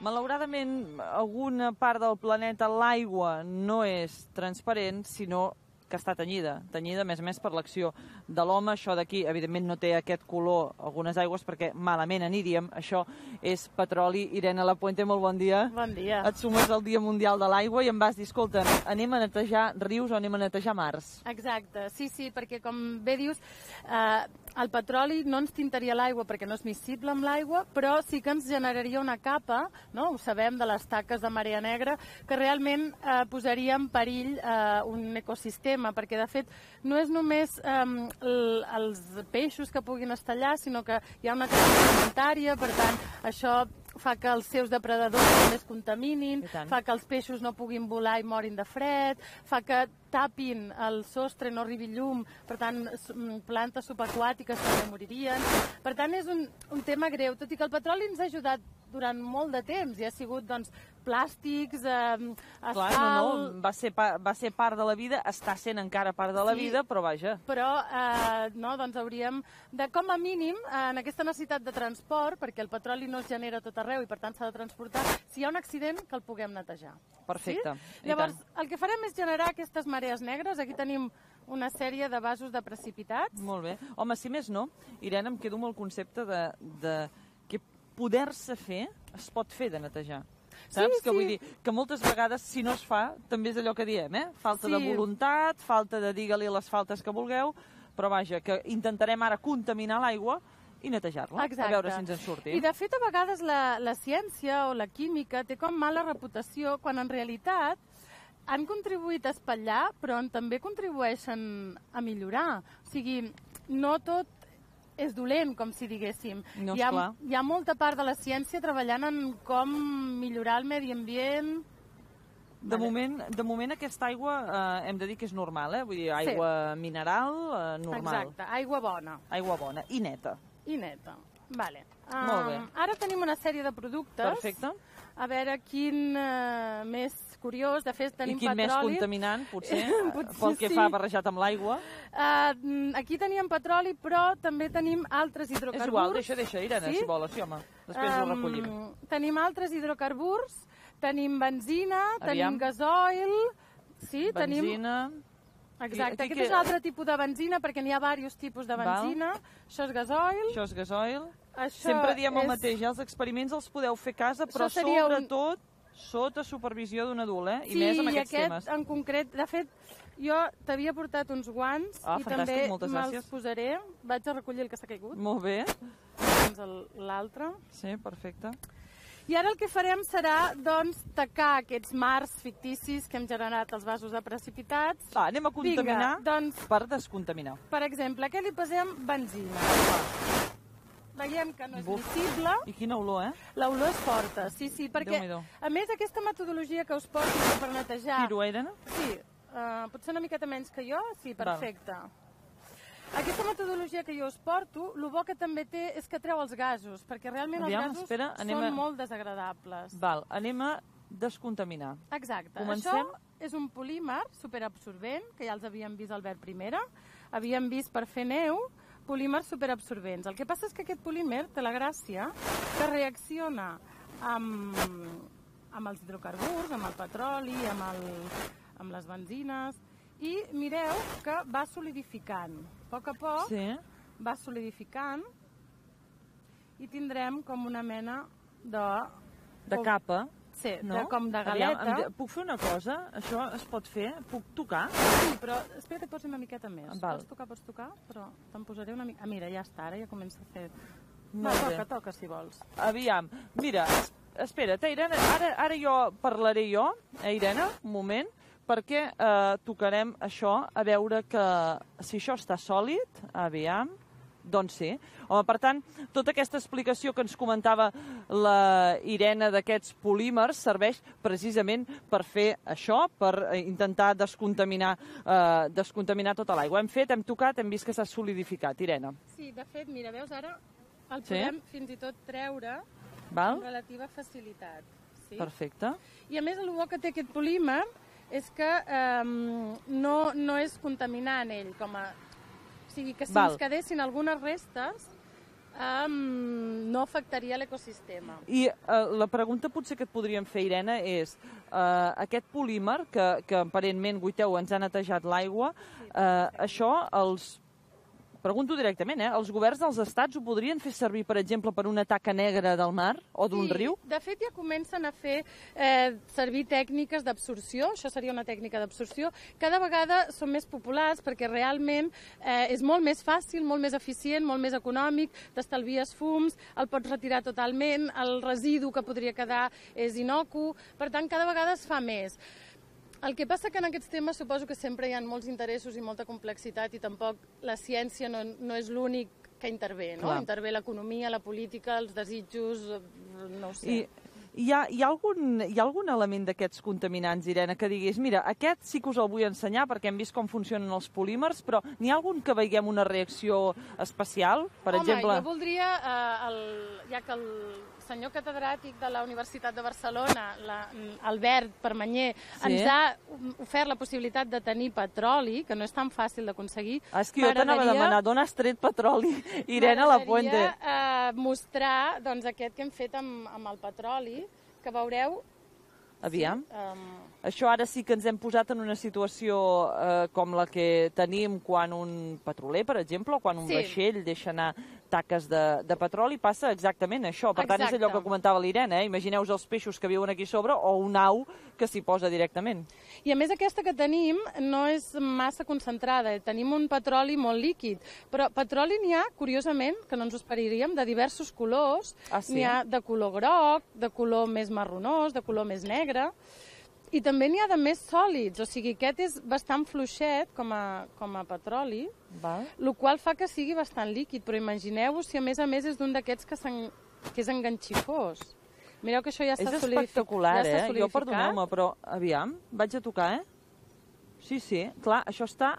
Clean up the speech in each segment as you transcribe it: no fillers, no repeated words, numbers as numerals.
Malauradament, alguna part del planeta, l'aigua, no és transparent, sinó que està tenyida, a més a més per l'acció de l'home. Això d'aquí, evidentment, no té aquest color, algunes aigües, perquè malament aniríem. Això és petroli. Irene Lapuente, molt bon dia. Bon dia. Et sumes al Dia Mundial de l'Aigua i em vas dir, escolta, anem a netejar rius o anem a netejar mars? Exacte, sí, perquè com bé dius, el petroli no ens tintaria l'aigua perquè no és miscible amb l'aigua, però sí que ens generaria una capa, no? Ho sabem de les taques de marea negra, que realment posaria en perill un ecosistema, perquè de fet no és només els peixos que puguin estar allà, sinó que hi ha una cadena alimentària, per tant, això fa que els seus depredadors també es contaminin, fa que els peixos no puguin volar i morin de fred, fa que tapin el sostre, no arribi llum, per tant, plantes subaquàtiques també moririen. Per tant, és un tema greu, tot i que el petroli ens ha ajudat durant molt de temps i ha sigut, doncs, plàstics, asfalt... Clar, va ser part de la vida, està sent encara part de la vida, però vaja. Però, doncs hauríem de, com a mínim, en aquesta necessitat de transport, perquè el petroli no es genera a tot arreu i per tant s'ha de transportar, si hi ha un accident, que el puguem netejar. Perfecte. Llavors, el que farem és generar aquestes marees negres. Aquí tenim una sèrie de vasos de precipitats. Molt bé. Home, si més no, Irene, em quedo amb el concepte de que poder-se fer es pot fer de netejar. Saps? Que vull dir que moltes vegades, si no es fa, també és allò que diem, falta de voluntat, falta de digue-li les faltes que vulgueu, però vaja, que intentarem ara contaminar l'aigua i netejar-la, a veure si ens en surti. I de fet, a vegades la ciència o la química té com mala reputació, quan en realitat han contribuït a espatllar, però també contribueixen a millorar. O sigui, no tot és dolent, com si diguéssim. No, hi ha molta part de la ciència treballant en com millorar el medi ambient. De moment aquesta aigua hem de dir que és normal, vull dir, aigua mineral, normal. Exacte, aigua bona. Aigua bona, i neta. I neta, vale. Molt bé. Ara tenim una sèrie de productes. Perfecte. A veure quin més curiós, de fet tenim petroli. I quin més contaminant, potser, pel que fa barrejat amb l'aigua. Aquí teníem petroli, però també tenim altres hidrocarburs. És igual, deixa, Irene, si vols, sí, home. Després ho recollim. Tenim altres hidrocarburs, tenim benzina, tenim gasoil... Benzina... Exacte, aquest és l'altre tipus de benzina, perquè n'hi ha diversos tipus de benzina. Això és gasoil. Això és gasoil. Sempre diem el mateix, els experiments els podeu fer a casa, però sobretot sota supervisió d'un adult, i més amb aquests temes. Sí, i aquest en concret, de fet, jo t'havia portat uns guants i també me'ls posaré. Vaig a recollir el que s'ha caigut. Molt bé. Doncs l'altre. Sí, perfecte. I ara el que farem serà, doncs, tacar aquests mars ficticis que hem generat als vasos de precipitats. Anem a contaminar per descontaminar. Per exemple, què li posem? Benzina. Veiem que no és visible. I quina olor, L'olor és forta, sí, perquè, a més, aquesta metodologia que us porto per netejar... Tiro, Irene? Sí, potser una miqueta menys que jo, sí, perfecte. Aquesta metodologia que jo us porto, el bo que també té és que treu els gasos, perquè realment els gasos són molt desagradables. Val, anem a descontaminar. Exacte. Això és un polímer superabsorbent, que ja els havíem vist al Albert Primera, havíem vist per fer neu, polímers superabsorbents. El que passa és que aquest polímer té la gràcia que reacciona amb els hidrocarburs, amb el petroli, amb les benzines, i mireu que va solidificant. A poc va solidificant i tindrem com una mena de capa. Sí, com de galeta. Puc fer una cosa? Això es pot fer? Puc tocar? Sí, però espera que et posi una miqueta més. Val. Pots tocar, però te'n posaré una mica... Mira, ja està, ara ja comença a fer... Toca, si vols. Aviam, mira, espera't, Irene, ara jo parlaré Irene, un moment, perquè tocarem això, a veure que si això està sòlid, aviam, doncs sí. Home, per tant, tota aquesta explicació que ens comentava la Irene d'aquests polímers serveix precisament per fer això, per intentar descontaminar tota l'aigua. Hem tocat, hem vist que s'ha solidificat, Irene. Sí, de fet, mira, veus, ara el podem fins i tot treure amb relativa facilitat. Perfecte. I a més, el bo que té aquest polímer és que no és contaminant ell, o sigui que si ens quedessin algunes restes, No afectaria l'ecosistema. I la pregunta potser que et podríem fer, Irene, és aquest polímer que aparentment, Guiteu, ens ha netejat l'aigua, això pregunto directament, els governs dels estats ho podrien fer servir, per exemple, per una taca negra del mar o d'un riu? De fet, ja comencen a fer servir tècniques d'absorció, això seria una tècnica d'absorció. Cada vegada són més populars perquè realment és molt més fàcil, molt més eficient, molt més econòmic, t'estalvies fums, el pots retirar totalment, el residu que podria quedar és inocu, per tant, cada vegada es fa més. El que passa que en aquests temes suposo que sempre hi ha molts interessos i molta complexitat i tampoc la ciència no és l'únic que intervé, no? Intervé l'economia, la política, els desitjos, no ho sé. Hi ha algun element d'aquests contaminants, Irene, que diguis, mira, aquest sí que us el vull ensenyar perquè hem vist com funcionen els polímers, però n'hi ha algun que veiem una reacció especial? Per exemple... Home, jo voldria, ja que el senyor catedràtic de la Universitat de Barcelona, Albert Permanyer, ens ha ofert la possibilitat de tenir petroli, que no és tan fàcil d'aconseguir. És que jo t'anava a demanar, d'on has tret petroli, Irene Lapuente? M'agradaria mostrar aquest que hem fet amb el petroli, que veureu... Aviam. Això ara sí que ens hem posat en una situació com la que tenim quan un petroler, per exemple, o quan un vaixell deixa anar taques de petroli, passa exactament això. Per tant, és allò que comentava l'Irene, imagineu els peixos que viuen aquí sobre o un au que s'hi posa directament. I a més aquesta que tenim no és massa concentrada, tenim un petroli molt líquid, però petroli n'hi ha, curiosament, que no ens ho esperaríem, de diversos colors. N'hi ha de color groc, de color més marronós, de color més negre, i també n'hi ha de més sòlids, o sigui, aquest és bastant fluixet com a petroli, el qual fa que sigui bastant líquid, però imagineu-vos si a més és d'un d'aquests que és enganxifós. Mireu que això ja s'ha solidificat. És espectacular, Jo, perdoneu-me, però aviam, vaig a tocar, Sí, clar, això està...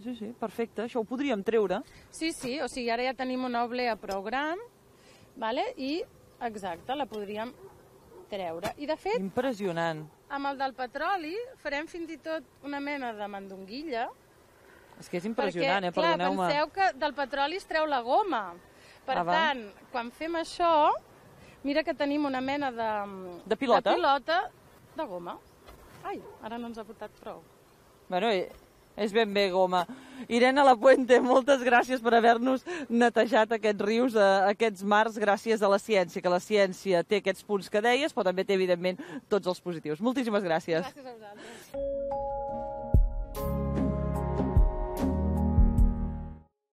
Sí, perfecte, això ho podríem treure. Sí, o sigui, ara ja tenim una oblea prou gran, i, exacte, la podríem treure. I, de fet... Impressionant. Amb el del petroli farem fins i tot una mena de mandonguilla. És que és impressionant, perdoneu-me. Clar, penseu que del petroli es treu la goma. Per tant, quan fem això, mira que tenim una mena de pilota de goma. Ai, ara no ens ha portat prou. Bueno, és ben bé goma. Irene Lapuente, moltes gràcies per haver-nos netejat aquests rius, aquests mars, gràcies a la ciència, que la ciència té aquests punts que deies, però també té, evidentment, tots els positius. Moltíssimes gràcies. Gràcies a vosaltres.